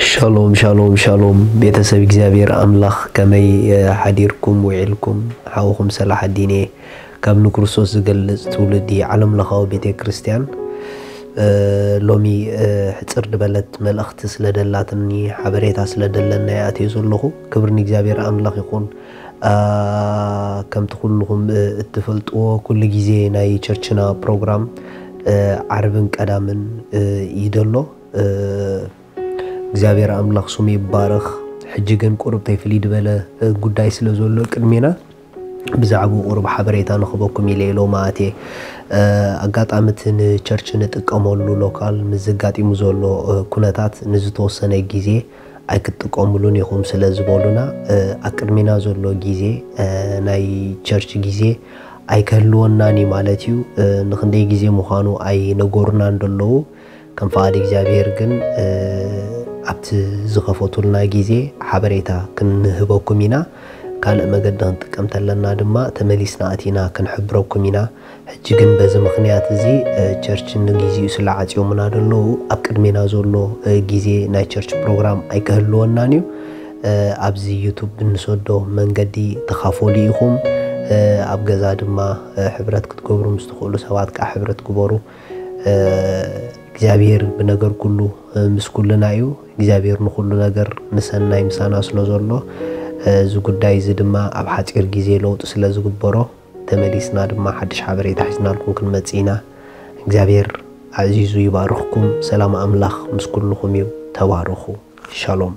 ሻሎም ሻሎም ሻሎም፣ ቤተሰብ እግዚኣብሔር ኣምላኽ፣ ከመይ ሓዲርኩም ውዒልኩም? ሓውኹም ሰላሓዲን እየ። ካብ ንክርስቶስ ዝገልጽ ትውልዲ ዓለም ለኻዊ ቤተ ክርስቲያን። ሎሚ ሕፅር ዝበለት መልእኽቲ ስለ ደላትኒ፣ ሓበሬታ ስለ ደለና ይኣትዮ ዘለኹ። ክብሪ ንእግዚኣብሔር ኣምላኽ ይኹን። ከምቲ ኩልኹም እትፈልጥዎ፣ ኩሉ ግዜ ናይ ቸርችና ፕሮግራም ዓርብን ቀዳምን እዩ ደሎ። እግዚኣብሔር ኣምላኽ ስሙ ይባረኽ። ሕጂ ግን ቁሩብ ተይ ፍልይ ዝበለ ጉዳይ ስለ ዘሎ ቅድሜና፣ ብዛዕባኡ ቁሩብ ሓበሬታ ንኽበኩም ኢለ ኢሎ ማእቴ። ኣጋጣሚ እቲ ንቸርች ንጥቀመሉ ሎካል ምስ ዘጋጢሙ ዘሎ ኩነታት ንዝተወሰነ ግዜ ኣይክትጥቀሙሉን ኢኹም ስለ ዝበሉና፣ ኣብ ቅድሜና ዘሎ ግዜ ናይ ቸርች ግዜ ኣይክህልወናን እዩ ማለት እዩ። ንክንደይ ግዜ ምዃኑ ኣይነገሩናን ደለዉ። ከም ፍቓድ እግዚኣብሔር ግን ኣብቲ ዝኸፈቱልና ግዜ ሓበሬታ ክንህበኩም ኢና። ካልእ መገዲ ክንጥቀም ተለና ድማ ተመሊስና ኣቲና ክንሕብረኩም ኢና። ሕጂ ግን በዚ ምኽንያት እዚ ቸርች ንግዜኡ ስለ ዓጽዮምና ደለዉ፣ ኣብ ቅድሜና ዘሎ ግዜ ናይ ቸርች ፕሮግራም ኣይክህልወናን እዩ። ኣብዚ ዩቱብ ብንሰዶ መንገዲ ተኻፈሉ ኢኹም። ኣብ ገዛ ድማ ሕብረት ክትገብሩ ምስ ትኽእሉ ሰባት ከዓ ሕብረት ግበሩ። እግዚኣብሔር ብነገር ኩሉ ምስ ኩልና እዩ። እግዚኣብሔር ንኹሉ ነገር ንሰናይ ምሳና ስለ ዘሎ፣ እዚ ጉዳይ እዚ ድማ ኣብ ሓፂር ግዜ ለውጢ ስለ ዝግበሮ፣ ተመሊስና ድማ ሓድሽ ሓበሬታ ሒዝናልኩም ክንመጽእ ኢና። እግዚኣብሔር ኣዕዚዙ ይባርኽኩም። ሰላም ኣምላኽ ምስ ኩልኹም እዩ። ተባረኹ። ሻሎም።